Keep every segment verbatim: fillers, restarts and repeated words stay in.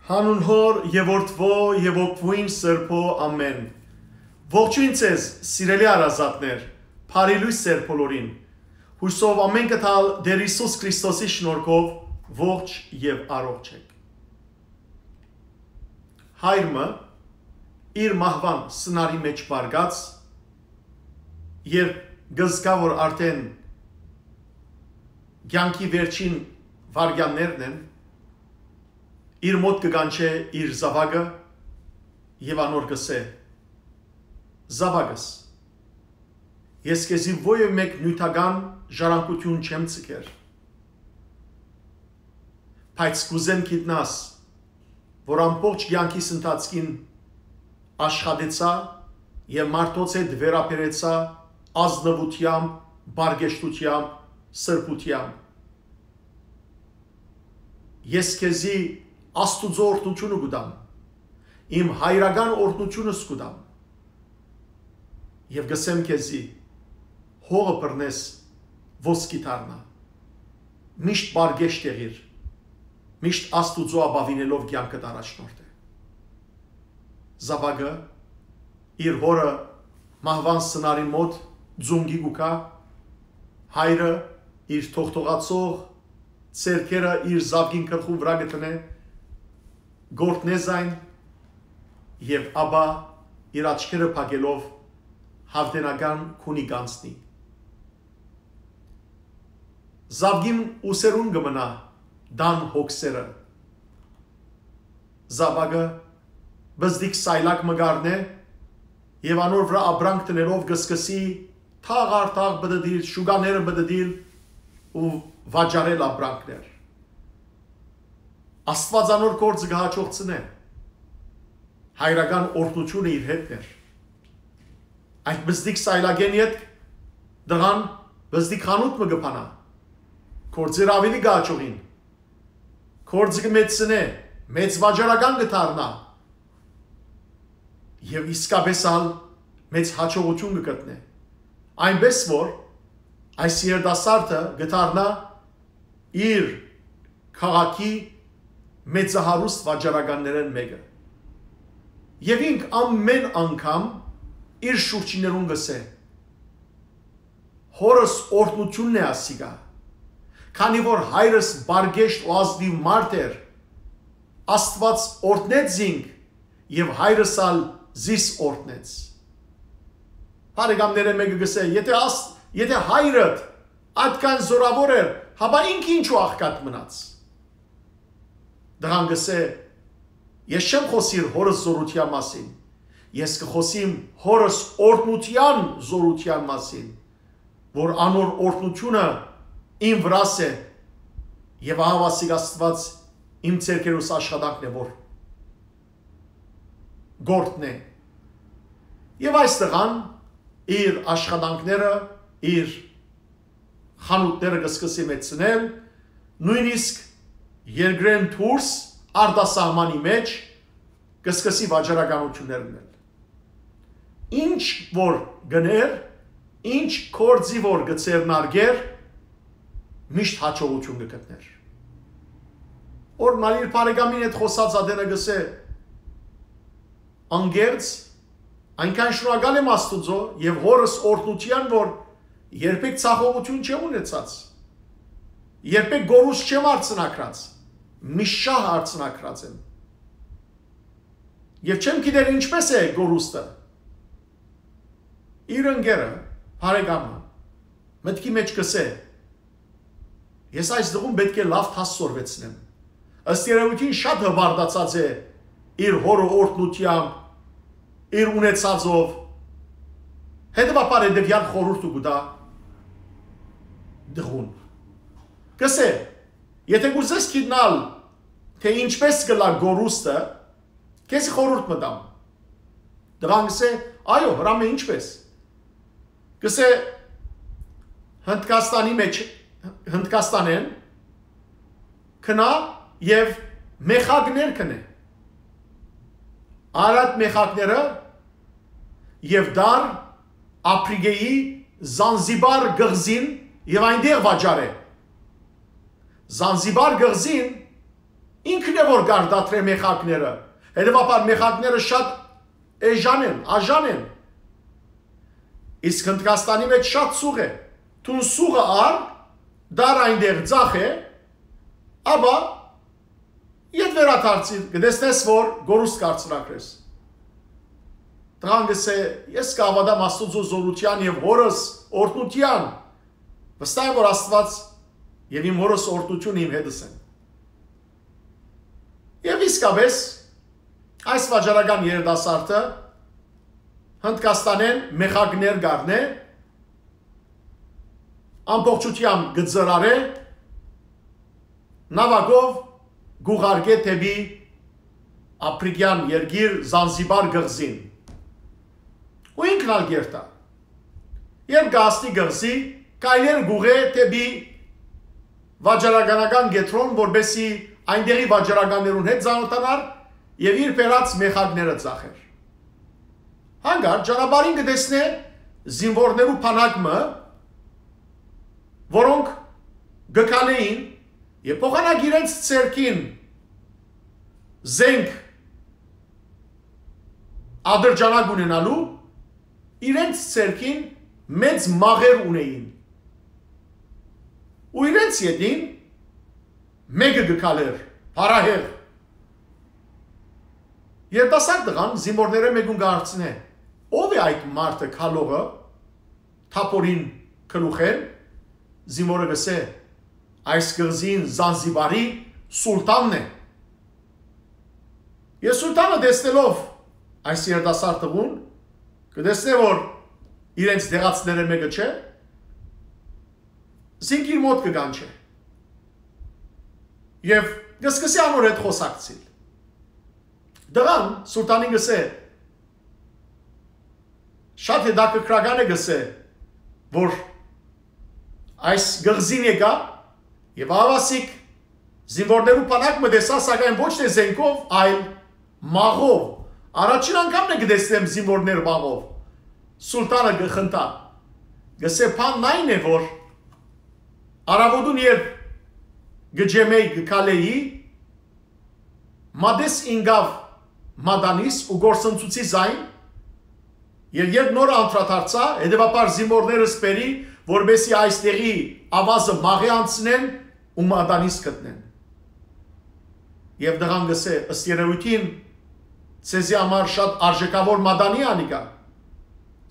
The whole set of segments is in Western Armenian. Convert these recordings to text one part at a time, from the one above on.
Հանուն Հօր եւ Որդւոյ եւ Հոգւոյն Սրբոյ, ամէն։ Ողջոյն ձեզ, սիրելի հարազատներ, բարի լոյս ձեր բոլորին։ Յուսով ամէնքը թալ Տէր Յիսուս Քրիստոսի շնորհքով ողջ եւ առողջ եք։ Հայր մը իր մահուան սնարի մէջ պառկած, երբ կը զգայ, որ արդէն կեանքի վերջին վայրկեաններն են, իր մօտ կը կանչէ իր զաւակը եւ անոր կ'ըսէ. «Զաւակս, ես քեզի որեւէ մէկ նիւթական ժառանգութիւն չեմ ձգեր, բայց կ'ուզեմ գիտնաս, որ ամբողջ կեանքիս ընթացքին աշխատեցայ եւ մարդոց հետ վերաբերեցայ ազնուութեամբ, պարկեշտութեամբ, սրբութեամբ։ Ես քեզի Աստուծոյ օրհնութիւնը կու տամ, իմ հայրական օրհնութիւնս կու տամ եւ կ'ըսեմ քեզի. հողը բռնես, ոսկի դառնայ։ Միշտ պարկեշտ եղիր, միշտ Աստուծոյ ապաւինելով կեանքդ առաջնորդէ»։ Զաւակը իր հօրը մահուան սնարի մօտ ծունկի կու գայ, հայրը իր թողթողացող ձեռքերը իր զաւկին գլխուն վրայ կը դնէ, կ'օրհնէ զայն եւ ապա իր աչքերը փակելով յաւտենական քունի կ'անցնի։ Զաւկին ուսերուն կը մնայ տան հոգսերը։ Զաւակը պզտիկ սայլակ մը կ'առնէ եւ անոր վրայ ապրանք դնելով կը սկսի թաղ առ թաղ պտտիլ, շուկաները պտտիլ ու վաճառել ապրանքներ։ Աստուած անոր գործը կը հաջողցնէ։ Հայրական օրհնութիւնը իր հետն էր։ Այդ պզտիկ սայլակէն ետք տղան պզտիկ խանութ մը կը բանայ, գործերը աւելի կը հաջողին, գործը կը մեծցնէ, մեծ վաճառական կը դառնայ եւ իսկապէս ալ մեծ յաջողութիւն կը գտնէ։ Այնպէս որ այս երիտասարդը կը դառնայ իր քաղաքի մեծահարուստ վաճառականներէն մէկը։ Եւ ինք ամէն անգամ իր շուրջիներուն կ'ըսէ. «Հօրս օրհնութիւնն է ասիկա, քանի որ հայրս պարկեշտ ու ազնիւ մարդ էր, Աստուած օրհնեց զինք եւ հայրս ալ զիս օրհնեց»։ Բարեկամներէն մէկը կ'ըսէ. «Եթէ աս-, եթէ հայրդ այդքան զօրաւոր էր, հապա ինքը ինչու աղքատ մնաց»։ Տղան կ'ըսէ. «Ես չեմ խօսիր հօրս զօրութեան մասին, ես կը խօսիմ հօրս օրհնութեան զօրութեան մասին, որ անոր օրհնութիւնը իմ վրաս է, եւ ահա ասիկ Աստուած իմ ձեռքերուս աշխատանքն է, որ կ'օրհնէ»։ Եւ այս տղան իր աշխատանքները, իր խանութները կը սկսի մեծցնել, նոյնիսկ երկրէն դուրս, արտասահմանի մէջ, կը սկսի վաճառականութիւններ ընել։ Ինչ որ գներ, ինչ գործի որ կը ձեռնարկեր, միշտ յաջողութիւն կը գտներ։ Օրհնալ իր բարեկամին հետ խօսած ատենը կ'ըսէ. «Անկեղծ, այնքան շնորհակալ եմ Աստուծոյ եւ հօրս օրհնութեան, որ երբեք ցախողութիւն չեմ ունեցած, երբեք կորուստ չեմ արձանագրած, միշտ շահ արձանագրած եմ։ Եւ չեմ գիտեր ինչպէս է կորուստը»։ Իր ընկերը, բարեկամը, մտքի մէջ կ'ըսէ. «Ես այս տղուն պէտք է լաւ դաս սորվեցնեմ։ Ըստ երեւոյթին շատ հպարտացած է իր հօրը օրհնութեամբ, իր ունեցածով։ Հետեւաբար հետեւեալ խորհուրդը կու տայ տղուն։ Կ'ըսէ. Եթէ կ'ուզես գիտնալ, թէ ինչպէս կ'ըլլայ կորուստը, քեզի խորհուրդ մը տամ»։ Տղան կ'ըսէ. «Այո, Հրամէ, ինչպէս»։ Կ'ըսէ. «Հնդկաստանի մէջ, Հնդկաստանէն գնա եւ մեխակներ գնէ։ Առ այդ մեխակները եւ դար Ափրիկեի Զանզիբար կղզին եւ այնտեղ վաճառէ։ Զանզիբար կղզին Ինքն է որ կարտադրէ մեխակները։ Հետևաբար մեխակները շատ էժան են, աժան են։ Իսկ Հնդկաստանի մէջ շատ սուղ է։ Դուն սուղը առ, դար այնտեղ ձախ է, ապա ետ վերադարձիր, կտեսնես որ գորուստ կ'արձնակրես։ Տղան կ'ըսէ. «Ես կ'աւատամ Աստուծոյ զօրութեան եւ հորս օրհնութեան։ Վստահ եմ որ Աստուած եւ իմ հորս օրհնութիւնը իմ հետս են»։ Եւ իսկապէս այս վաճառական երիտասարդը Հնդկաստանէն մեխակներ կ'առնէ, ամբողջութեամբ կը ծրարէ, նաւակով կ'ուղարկէ դէպի Ափրիկեան երկիր Զանզիբար կղզին։ Ու ինքն ալ կ'երթայ։ Երբ կ'հասնի կղզի, քայլեր կ'ուղղէ դէպի վաճառականական կեդրոն, որպէսզի այնտեղի վաճառականներուն հետ ծանօթանար եւ իր բերած մեխակները ծախէր։ Հանկարծ ճանապարհին կը տեսնէ զինուորներու բանակ մը, որոնք կը քալէին եւ փոխանակ իրենց ձեռքին զենք ատրճանակ ունենալու, իրենց ձեռքին մեծ մաղեր ունէին։ Ու իրենց ետին մէկը կը քալէր, փառահեղ։ Երիտասարդ տղան զինուորներէն մէկուն կը հարցնէ. «Ո՞վ է այդ մարդը քալողը, թափորին գլուխէն»։ Զինուորը կ'ըսէ. «Այս կղզին Զանզիբարի սուլթանն է»։ Եւ սուլթանը տեսնելով այս երիտասարդ տղուն, կը տեսնէ որ իրենց դեղացիներէն մէկը չէ, զինք իր մօտ կը կանչէ։ Եւ կը սկսի անոր հետ խօսակցիլ։ Տղան սուլթանին կ'ըսէ. «Շատ հետաքրքրական է», կ'ըսէ, «որ այս կղզին եկայ եւ ահաւասիկ զինուորներու բանակ մը տեսայ, սակայն ոչ թէ զենքով, այլ մաղով։ Առաջին անգամն է կը տեսնեմ զինուորներ մաղով»։ Սուլթանը կը խնդայ, կ'ըսէ. «Բանն այն է որ առաւօտուն երբ կը ջեմէի, կը քալէի, մատս ինկաւ մատանիս ու կորսնցուցի զայն, եւ երբ նոր անդրադարձայ, հետեւաբար զինուորներս բերի, որպէսզի այս տեղի աւազը մաղէ անցնեն ու մատանիս գտնեն»։ Եւ տղան կ'ըսէ. «Ըստ երեւոյթին, ձեզի համար շատ արժէքաւոր մատանի անիկա»։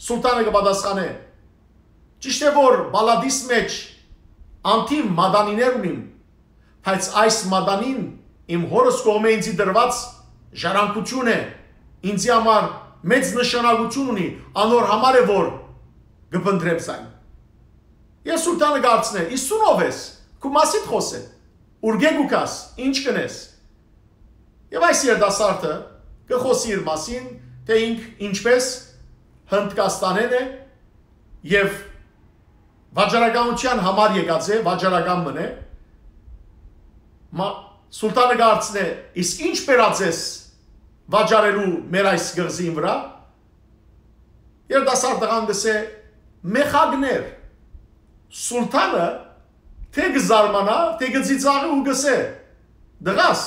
Սուլթանը կը պատասխանէ. «Ճիշդ է որ պալատիս մէջ անդին մատանիներ ունիմ, բայց այս մատանին իմ հորս կողմէ ինծի տրուած ժառանգութիւն է, ինծի համար մեծ նշանակութիւն ունի, անոր համար է որ կը փնտռեմ զայն»։ Եւ սուլթանը կ'արցնէ. «Իսկ դուն ո՞վ ես, քու մասի՞դ խօսէ, ուրկէ՞ կու գաս, ի՞նչ կ'ընես»։ Եւ այս երիտասարդը կը խօսի իր մասին, թէ ինք ինչպէս Հնդկաստանէն է եւ վաճառականութեան համար եկած է, վաճառական մըն է։ Մա-, սուլթանը կ'արցնէ. «Իսկ ի՞նչ բերած ես վաճառելու մեր այս կղզին վրայ»։ Երիտասարդ տղան կ'ըսէ. «Մեխակներ»։ Սուլթանը թէ կը զարմանայ, թէ կը ծիծաղի ու կ'ըսէ. «Տղաս,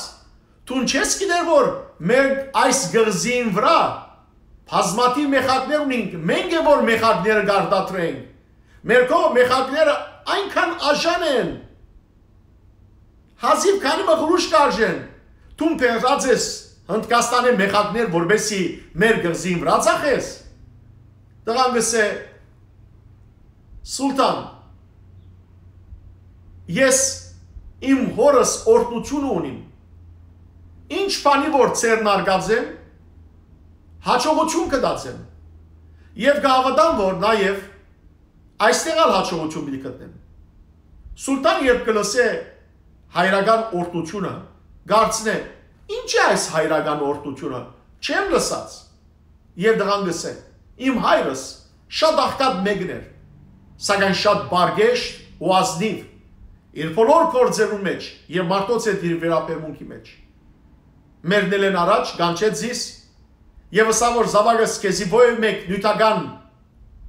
դուն չե՞ս գիտեր որ մեր այս կղզին վրայ բազմաթիւ մեխակներ ունինք, մենք է որ մեխակները կարտադրենք։ Մեր քո մեխակները այնքան աժան են, հազիւ քանի մը ղրուշ կ'արժեն, դուն բերած ես Հնդկաստանէն մեխակներ, որպէսզի մեր կղզին վրայ ծախես»։ Տղան կ'ըսէ. «Սուլթան, ես իմ հորս օրհնութիւնը ունիմ։ Ինչ բանի որ ձեռնարկած եմ, յաջողութիւն կտած եմ։ Եւ կ'հաւատամ որ նաեւ այստեղ ալ յաջողութիւն պիտի գտնեմ»։ Սուլթան երբ կը լսէ հայրական օրհնութիւնը, կ'արցնէ. «Ի՞նչ է այս հայրական օրհնութիւնը, չեմ լսած»։ Եւ տղան կ'ըսէ. «Իմ հայրս շատ աղքատ մեկն էր, սակայն շատ բարգեշտ ու ազնիւ իր բոլոր գործերուն մէջ եւ մարդոց հետ իր վերաբերմունքի մէջ։ Մեռնելէն առաջ կանչեց զիս եւ ըսաւ որ զաւակս, քեզի ովեւ մէկ նիւթական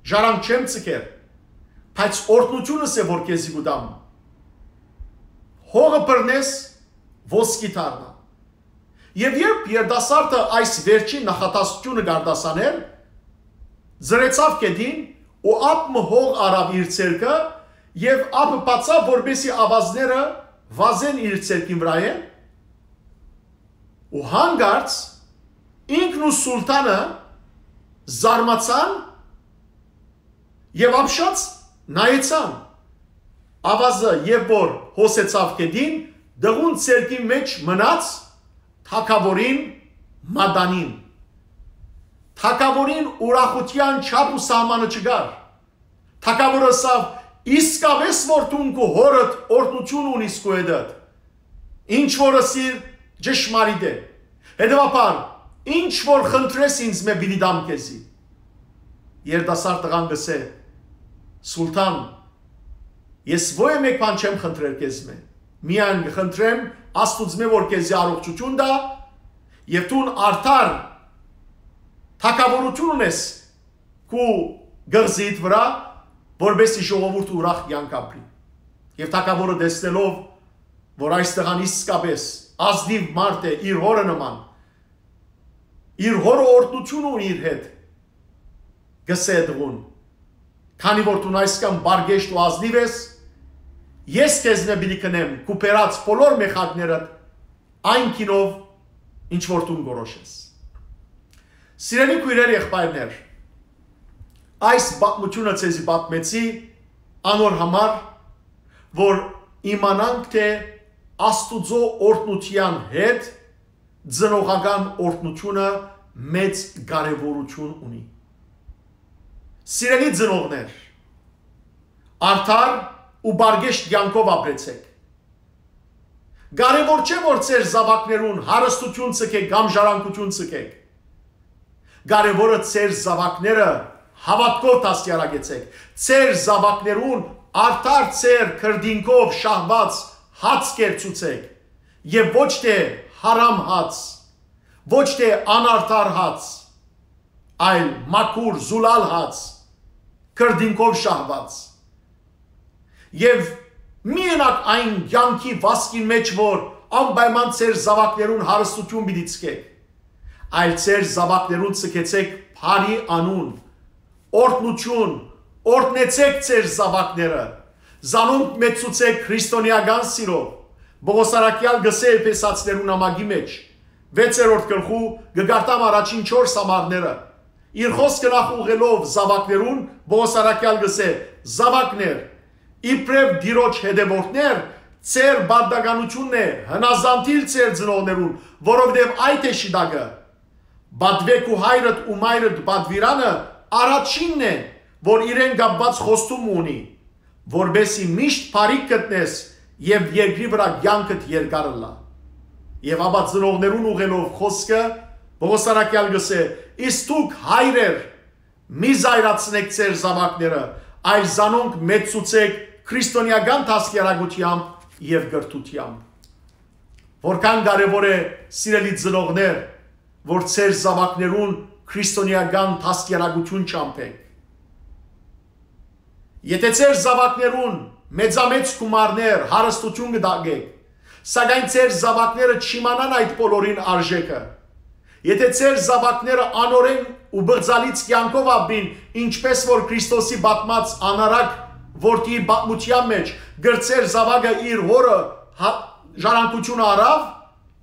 ժառանգ չեմ ձգեր, բայց օրհնութիւնս է որ քեզի կու տամ։ Հողը բռնես, ոսկի դառնայ, Եւ երբ երիտասարդը այս վերջին նախատասությունը կ'արտասաներ, ծռեցաւ գետին ու ափ մը հող առաւ իր ձեռքը եւ ափը բացաւ, որպեսզի աւազները վազեն իր ձեռքին վրայէն, ու հանկարծ ինքն ու սուլթանը զարմացան եւ ապշած նայեցան։ Աւազը, երբ որ հոսեցաւ գետին, տղուն ձեռքին մէջ մնաց թագաւորին մատանին։ Թագաւորին ուրախութեան չափ ու սահմանը չկար։ Թագաւորը ըսաւ. «Իսկապէս որ դուն քու հօրդ օրհնութիւն ունիս քու հետդ։ Ինչ որ ըսիր, ճշմարիտ է։ Հետեւաբար, ինչ որ խնդրես ինձմէ, պիտի տամ քեզի»։ Երիտասարդ տղան կ'ըսէ. «Սուլթան, ես ոյ մէկ բան չեմ խնդրեր քեզմէ։ Միայն կը խնդրեմ Աստուծմէ, որ քեզի առողջութիւն տայ եւ դուն արդար թագաւորութիւն ունես քու կղզիդ վրայ, որպեսզի ժողովուրդ ուրախ կեանք ապրի»։ Եւ թագաւորը, տեսնելով որ այս տղան իսկապէս ազնիւ մարդ է, իր հօրը նման, իր հօրը օրհնութիւն ունի իր հետ, կ'ըսէ տղուն. «Քանի որ դուն այսքան պարկեշտ ու ազնիվ ես, ես քեզմէ պիտի գնեմ քու բերած բոլոր մեխակներդ այն գինով, ինչ որ դուն կորոշես»։ Սիրելի քոյրեր, եղբայրներ, այս պատմութիւնը ձեզի պատմեցի անոր համար, որ իմանանք թէ Աստուծոյ օրհնութեան հետ ծնողական օրհնութիւնը մեծ կարեւորութիւն ունի։ Սիրելի ծնողներ, արդար ու պարկեշտ կեանքով ապրեցէք։ Կարեւոր չէ որ ձեր զաւակներուն հարստութիւն ձգէք կամ ժառանգութիւն ձգէք։ Կարեւորը ձեր զաւակները հաւատքով դաստիարակեցէք։ Ձեր զաւակներուն արդար ձեր քրտինքով շահուած հաց կերցուցէք եւ ոչ թէ հարամ հաց, ոչ թէ անարդար հաց, այլ մաքուր, զուլալ հաց, քրտինքով շահուած։ Եւ մի ընաք այն կեանքի վազքին մէջ, որ անպայման ձեր զաւակներուն հարստութիւն պիտի ձգէք, այլ ձեր զաւակներուն ձգեցէք բարի անուն, օրհնութիւն, օրհնեցէք ձեր զաւակները, զանոնք մեծցուցէք քրիստոնէական սիրով։ Պողոս առաքեալ կ'ըսէ Էփեսացիներուն նամակի մէջ, վեցերորդ գլխու, կը կարդամ առաջին չորս համարները։ Իր խօսքը նախ ուղղելով զաւակներուն, Պողոս առաքեալ կ'ըսէ. «Զաւակներ, իբրեւ Տիրոջ հետեւորդներ, ձեր պարտականութիւնն է հնազանդիլ ձեր ծնողներուն, որովհետեւ այդ է շիտակը։ Պատուէ քու հայրդ ու մայրդ պատուիրանը առաջինն է, որ իրեն կապուած խոստում ունի, որպեսզի միշտ բարիք գտնես եւ երկրի վրայ կեանքդ երկար ըլլայ»։ Եւ ապա ծնողներուն ուղղելով խօսքը, Պողոս առաքեալ կ'ըսէ. «Իսկ դուք, հայրեր, մի զայրացնէք ձեր զաւակները, այլ զանոնք մեծցուցէք քրիստոնէական դաստիարակութեամբ եւ կրթութեամբ»։ Որքան կարեւոր է, սիրելի ծնողներ, որ ձեր զաւակներուն քրիստոնէական դաստիարակութիւն չամբէք։ Եթէ ձեր զաւակներուն մեծամեծ գումարներ, հարստութիւն կը տակէք, սակայն ձեր զաւակները չիմանան այդ բոլորին արժէքը, եթէ ձեր զաւակները անօրէն ու բղծալից կեանքով ապրին, ինչպէս որ Քրիստոսի պատմած անառակ որդիի պատմութեան մէջ, կրտսեր զաւակը իր հօրը հա-, ժառանգութիւնը առաւ,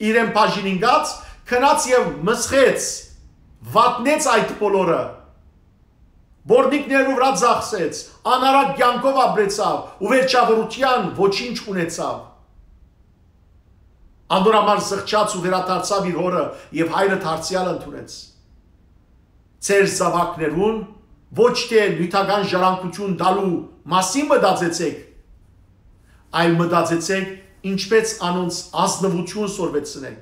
իրեն բաժին ինկած, գնաց եւ մսխեց, վատնեց այդ բոլորը, որնիկներու վրայ ծախսեց, անառակ կեանքով ապրեցաւ ու վերջավորութեան ոչինչ ունեցաւ։ Անոր համար զղջաց ու վերադարձաւ իր հօրը եւ հայրը դարձեալ ընդունեց։ Ձեր զաւակներուն ոչ թէ նիւթական ժառանգութիւն տալու մասին մտածեցէք, այլ մտածեցէք, ինչպէս անոնց ազնուութիւն սորվեցնեք։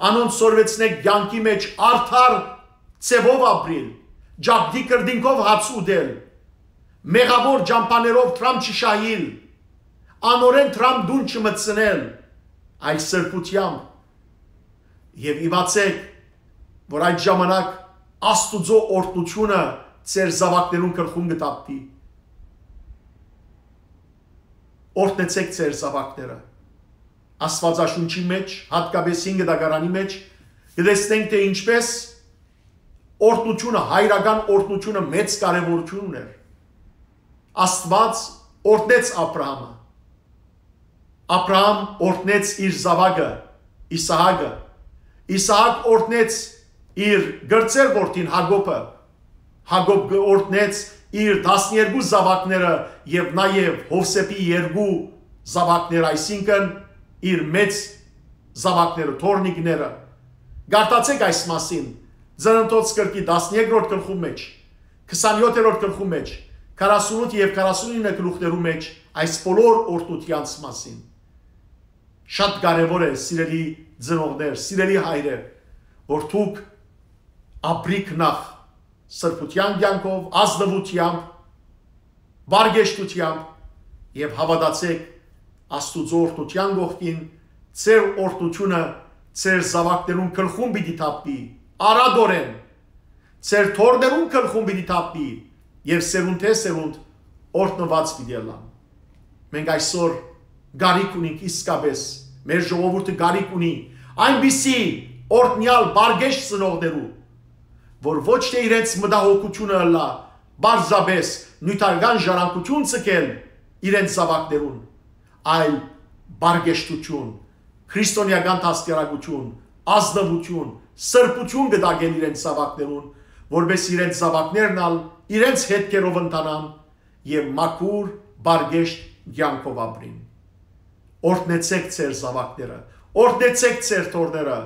Անոնց սորվեցնեք կեանքի մէջ արդար ձեւով ապրիլ, ճակտի կրտինքով հաց ուտել, մեղաւոր ճամբաներով դրամ չշահիլ, անօրէն դրամ տուն չմտցնել, այլ սրբութեամբ։ Եւ իմացեք, որ այդ ժամանակ Աստուծոյ օրհնութիւնը ձեր զաւակներուն գլխուն կը թափուի։ Օրհնեցեք ձեր զաւակները։ Աստուածաշունչի մէջ, յատկապէս Հին Կտակարանի մէջ, Կը տեսնենք, թէ ինչպէս օրհնութիւնը, հայրական օրհնութիւնը մեծ կարեւորութիւն ունէր։ Աստուած օրհնեց Աբրահամը։ Աբրահամ օրհնեց իր զաւակը՝ Իսահակը։ Իսահակ օրհնեց իր կրտսեր որդին՝ Յակոբը։ Յակոբ կը օրհնեց իր տասներկու զաւակները եւ նաեւ Յովսէփի երկու զաւակները, այսինքն՝ իր մեծ զաւակները, թոռնիկները։ Կարդացէք այս մասին Ծննդոց գրքի տասներկրորդ գլխու մէջ, քսանեթերորդ գլխու մէջ, քառասունութ եւ քառասունինը գլուխներու մէջ այս բոլոր օրհնութեանց մասին։ Շատ կարեւոր է, սիրելի ծնողներ, սիրելի հայրեր, որ դուք ապրիք նախ սրբութեան կեանքով, ազնուութեամբ, պարկեշտութեամբ եւ հաւատացէք Աստուծոյ օրհնութեան կողքին, ձեր օրհնութիւնը ձեր զաւակներուն գլխուն պիտի թափուի, արատօրէն, ձեր թոռներուն գլխուն պիտի թափուի եւ սերունդէ սերունդ օրհնուած պիտի ըլլան։ Մենք այսօր կարիք ունենք իսկապէս, մեր ժողովուրդը կարիք ունի այնպիսի օրհնեալ պարկեշտ ծնողներու, որ ոչ թէ իրենց մտահոգութիւնը ըլլայ պարզապէս նիւթական ժառանգութիւն ձգել իրենց զաւակներուն, այլ պարկեշտութիւն, քրիստոնէական դաստիարակութիւն, ազնուութիւն, սրբութիւն կը տակեն իրենց զաւակներուն, որպէս իրենց զաւակներն ալ իրենց հետքերով ընթանան եւ մաքուր, պարկեշտ կեանքով ապրին։ Օրհնեցէք ձեր զաւակները, օրհնեցէք ձեր թոռները,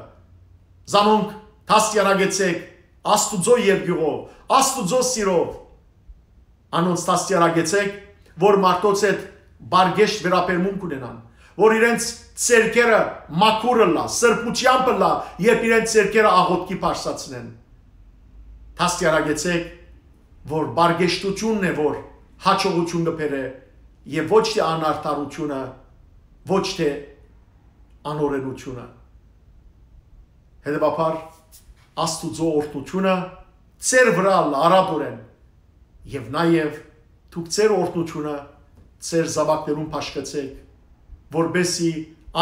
զանոնք դաստիարակեցէք Աստուծոյ երկիւղով, Աստուծոյ սիրով, անոնց դաստիարակեցէք, որ մարդոց հետ պարկեշտ վերաբերմունք ունենան, որ իրենց ձեռքերը մաքուր ըլլայ, սրբութեամբ ըլլայ, երբ իրենց ձեռքերը աղօթքի բարձրացնեն։ Դաստիարակեցէք, որ պարկեշտութիւնն է, որ յաջողութիւն կը բերէ, եւ ոչ թէ անարդարութիւնը, ոչ թէ անօրէնութիւնը։ Հետեւաբար, Աստուծոյ օրհնութիւնը ձեր վրայ ըլլայ արատօրէն, եւ նաեւ դուք ձեր օրհնութիւնը ձեր զաւակներուն բաշխեցէք, որպէս զի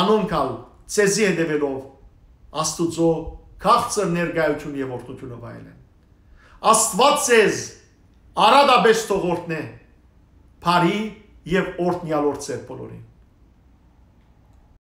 անոնք ալ ձեզի հետեւելով Աստուծոյ քաղցր ներկայութիւնը եւ օրհնութիւնը վայելեն։ Աստուած ձեզ արատապէս թող օրհնէ, բարի եւ օրհնեալ օր ձեր բոլորին։